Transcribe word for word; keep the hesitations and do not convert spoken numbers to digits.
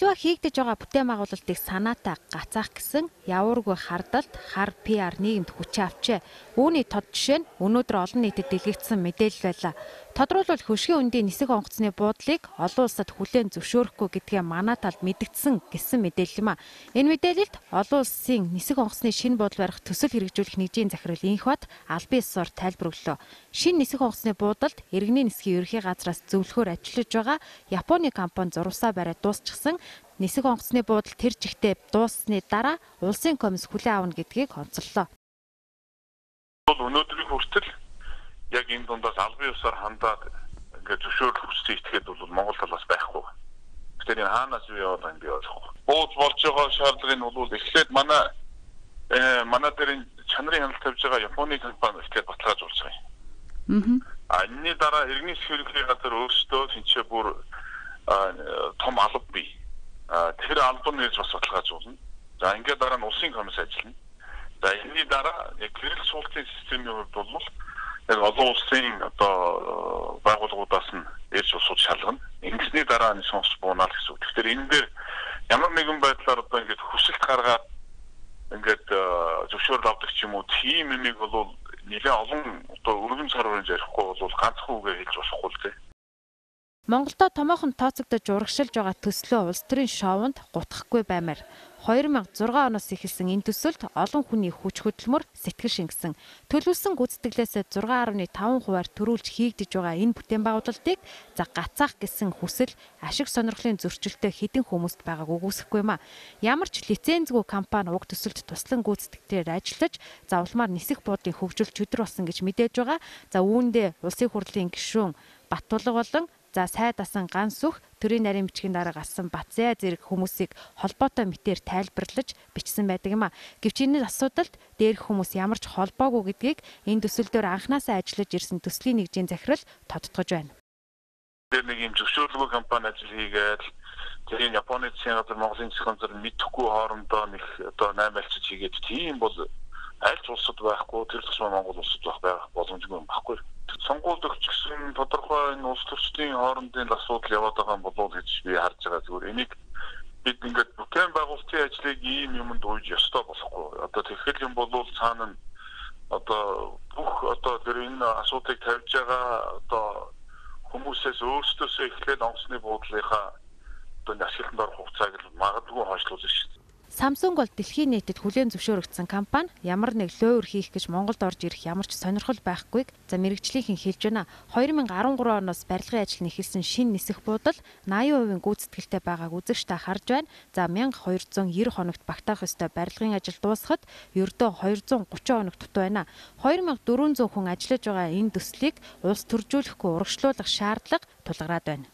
Аливаа хийгдэж байгаа бүтээн байгуулалтыг санаатай гацаах гэсэн явуургүй хардалт хар пи ар нийгэмд хүчээ авчээ. Үүний тод жишээ нь өнөөдөр олон нийтэд дэлгэгдсэн мэдээлэл байлаа. Тодруулбал хөшгийн үндийн нисэх онгоцны буудлыг олон улсад хүлээн зөвшөөрөхгүй гэдгээ манай талд мэдгдсэн гэсэн мэдээлэл юм а. Энэ мэдээлэлд олон улсын нисэх онгоцны шинэ буудлын барих төсөл хэрэгжүүлэх нэгжийн захирал Инх бат албан ёсоор тайлбар өглөө. Шинэ нисэх онгоцны буудалд иргэний нисхийн ерөнхий газраас зөвлөхөөр ажиллаж байгаа Японы компани зурвасаа бариад дуусчихсан нисэх онгоцны буудал тэр жигтэй дууссаны дараа улсын комисс хүлээн авна гэдгийг онцоллоо. Өнөөдрийн хүртэл яг энэ дундаас албан ёсоор хандаад ингээд зөвшөөрөл хүссэн итгээд бол Монгол талаас байхгүй. Тэгэхээр энэ хаанаас юу яваад байгааг би ойлгохгүй. Бууз болж байгаа шаардлагыг нь бол эхлээд манай э манай дээр чанарын хяналт тавьж байгаа Японы компани ихтэй баталгаажуулсан юм. Аа. Энэний дараа иргэний сэрхийлэх газар өөрсдөө тэнцээ бүр том алба бий. Тэр албан нэрж бас баталгаажуулна. За ингээд дараа нь улсын комисс ажиллана. За энэний дараа яг гэрэл суултын системийн хувьд бол яг олон улсын одоо байгууллагуудаас нь ирж усууд шалгана. Ингэсний дараа нь сонс буунаа л гэсэн үг. Тэгэхээр энэ дээр ямар нэгэн байдлаар одоо ингээд хүсэлт гаргаад ингээд зөвшөөрөл авдаг ч юм уу тийм юмыг бол нэлээд олон одоо өргөн сар хүрэн ярихгүй бол ганцхан үгээр хэлж болохгүй л дээ. Монголдо томоохон тооцогдож урагшилж байгаа төслөө улс төрийн шоунд гутгахгүй баймаар хоёр мянга зургаан оноос эхэлсэн энэ төсөлд олон хүний хүч хөдөлмөр сэтгэл шингэсэн. Төлөвлөсөн гүйцэтгэлээс зургаан гаруй таван хувиар төрүүлж хийгдэж байгаа энэ бүтээн байгуулалтыг за гацаах гэсэн хүсэл ашиг сонирхлын зөрчилтэй хэдэн хүмүүст байгааг үгүйсэхгүй юм а. Ямар ч лицензгүй компани уг төсөлд туслан гүйцэтгэлээр ажиллаж завламаар нисэх буудлын хөгжил чөдөр болсон гэж мэдээж байгаа. За үүндээ улсын хурлын гишүүн Баттулга болон за сайд асан ганс сүх төрийн нарийн бичгийн дараа гарсан Батзяа зэрэг хүмүүсийг холбоотой мэтээр тайлбарлаж бичсэн байдаг юм а. Гэвч энэ асуудалд дээрх хүмүүс ямар ч холбоогүй гэдгийг энэ төсөл дээр анханасаа ажиллаж ирсэн төслийн нэгжийн захирал тодтогч байна. Тэр нэг юм зөвшөөрлөгөө компани ажил хийгээд тэр Японы засгийн газар Монголын засгийн газар мэдхгүй хоорондоо нэг одоо наймаалцж хийгээд тийм бол аль ч улсад байхгүй тэр тусмаа Монгол улсад байх боломжгүй байхгүй. Сонгуульд өгчихсэн тодорхой энэ улс төрчдийн хоорондын асуудал яваад байгаа юм болов уу гэж би харж байгаа. Зүгээр энийг бид ингээд бүтээн байгуулалтын ажлыг ийм юмд ууж ёстой болохгүй. Одоо тэгэхээр юм бол цаана одоо бүх одоо тэр энэ асуудыг тавьж байгаа одоо хүмүүсээс өөрсдөөсөө эхлээд онгоцны буудлынхаа одоо ашиглалтанд орох хугацааг магадгүй хойшлуулж шүү дээ. Samsung бол дэлхийн нийтэд хүлээн зөвшөөрөгдсөн компани ямар нэг лойр хийх гэж Монголд орж ирэх ямар ч сонирхол байхгүйг за мэрэгжлийнхэн хэлж байна. хоёр мянга арван гурван оноос барилгын ажил нь эхэлсэн шинэ нисэх буудал восемьдесят хувийн гүйцэтгэлтэй байгааг үзэгчтэй харж байна. За мянга хоёр зуун девяносто хоногт багтаах ёстой барилгын ажил дуусахад ердөө хоёр зуун гучин хоног дутуу байна. хоёр мянга дөрвөн зуун хүн ажиллаж байгаа энэ төслийг улс төржүүлэхгүй урагшлуулах шаардлага тулгараад байна.